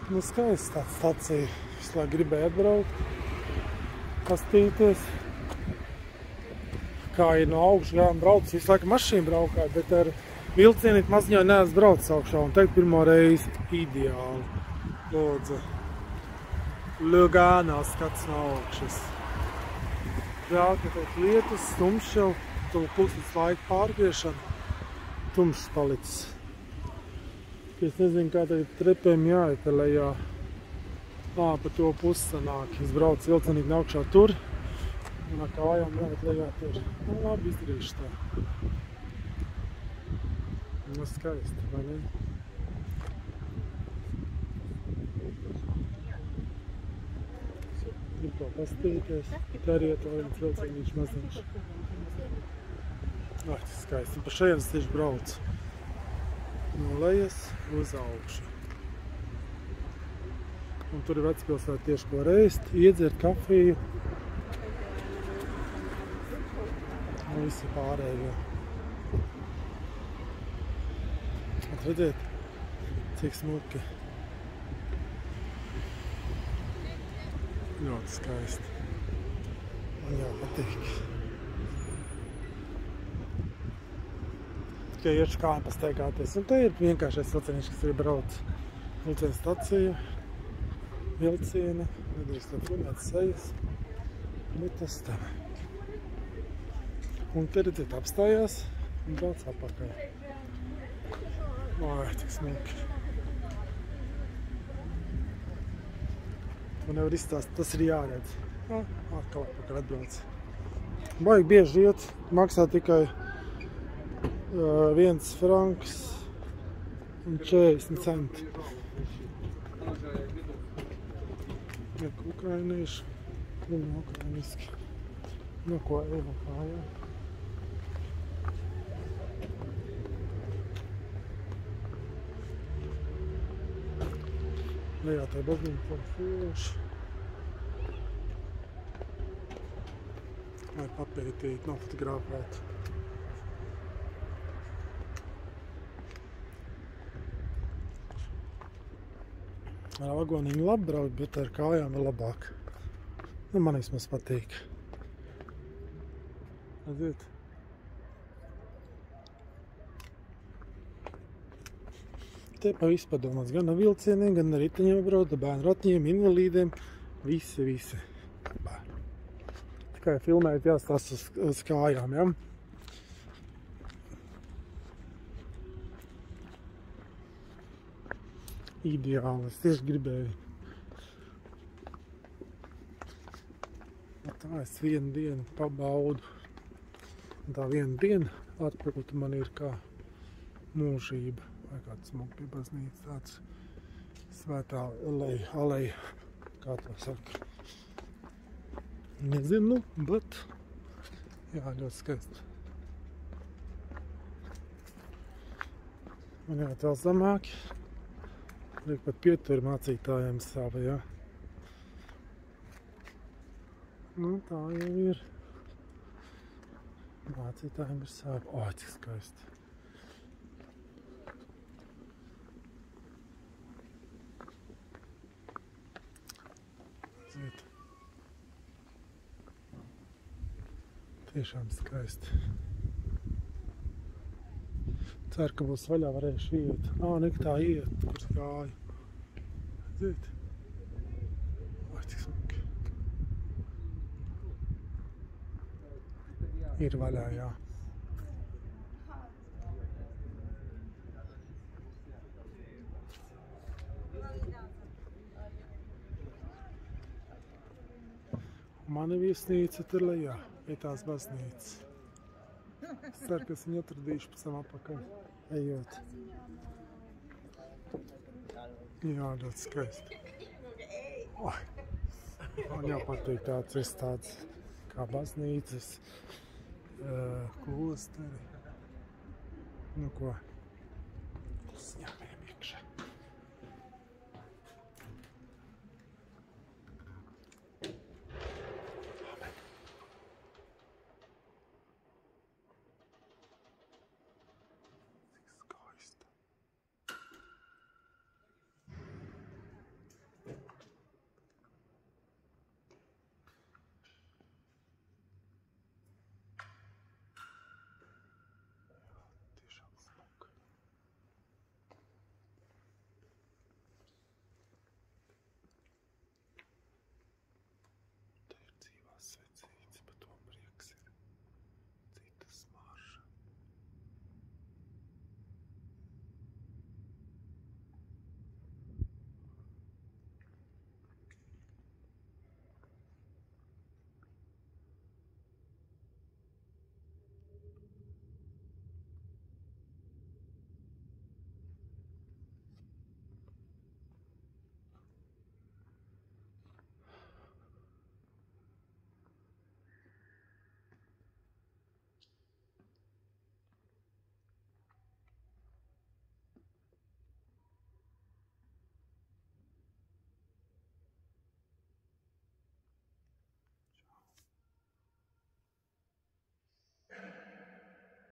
Nu, skaisti tāds stacija. Visu laiku gribēju atbraukt, pastīties. Kā ir no augšgājām braucis, visu laiku mašīnu braukāju, bet ar vilcienīt maziņā neesmu braucis augšā. Un teikt pirmo reizi ideāli. Lūdzu. Lugānā skats no augšas. Jā, ka kaut lietas, tumšs jau, to puses laika pārgriešana, tumšs palicis. Es nezinu, kā tagad trepēm jāiet lejā. Pa to pusi sanāk. Es braucu vilcienīt augšā tur, un ar kājām jāiet lejā tur. Nu, labi, izdarīšu tā. Nu, skaisti, vai ne? Gribu to pastīties. Tā arī iet vēl viens vilcienīši maziņš. Ai, tas skaisti. Un pa šajienes tieši braucu. No lejas uz augšu. Un tur ir Vecpilsētā tieši ko reist, iedzert kafiju. Un visi pārējo. Redziet, cik smuki. Ļoti skaisti. Man jau patīk. Tikai iešu kājām pastaigāties. Un te ir vienkāršais vilcieniņš, kas ir brauc. Vilciena stacija, vilcieni, nedrīkst tā filmēt sejas. Bet tas tā. Un te redziet apstājās un brauc apakaļ. Ai, tik smuki. To nevar izstāst, tas ir jāredz. Atkal apakaļ atbrauc. Baigi bieži iet, maksā tikai 1 franks un 40 centi. Jak ukrainieši, un ukrainiski. No ko Eva kājā. Lejā tā baznīca forši. Lai papētīt, nofotografēt. Ar vagoniņu labi braukt, bet ar kājām ir labāk. Nu, man vismaz patīk. Redziet? Te pa visu padomāts, gan ar vilcieniem, gan ar riteņiem braukt, ar bērnu ratiņiem, invalīdiem. Visi. Tikai filmēt jāstāst uz kājām, ja? Ideāli, es tieši gribēju. Tā es vienu dienu pabaudu. Tā viena diena atpūta man ir kā mūžība. Vai kāds smuki baznīca, tāds svētā aleja, kā to saka. Nezinu, bet jā, ļoti skaisti. Man jāiet vēl zemāk. Liek pat pieturi mācītājiem savu, jā. Nu, tā jau ir. Mācītājiem ir savu. O, cik skaisti. Ziniet. Tiešām skaisti. Ceru, ka būs vaļā varēšu iet. Nek tā iet, kur gāju. Ziniet. Vai, cik smuki. Ir vaļā, jā. Mana viesnīca tur lejā, pie tās baznīcas. Es ceru, ka es viņu atradīšu pēc tam apakaļ, ejot. Jā, ļoti skaisti. Man jau patīk tāds kā baznīcas, klosteri. Nu ko?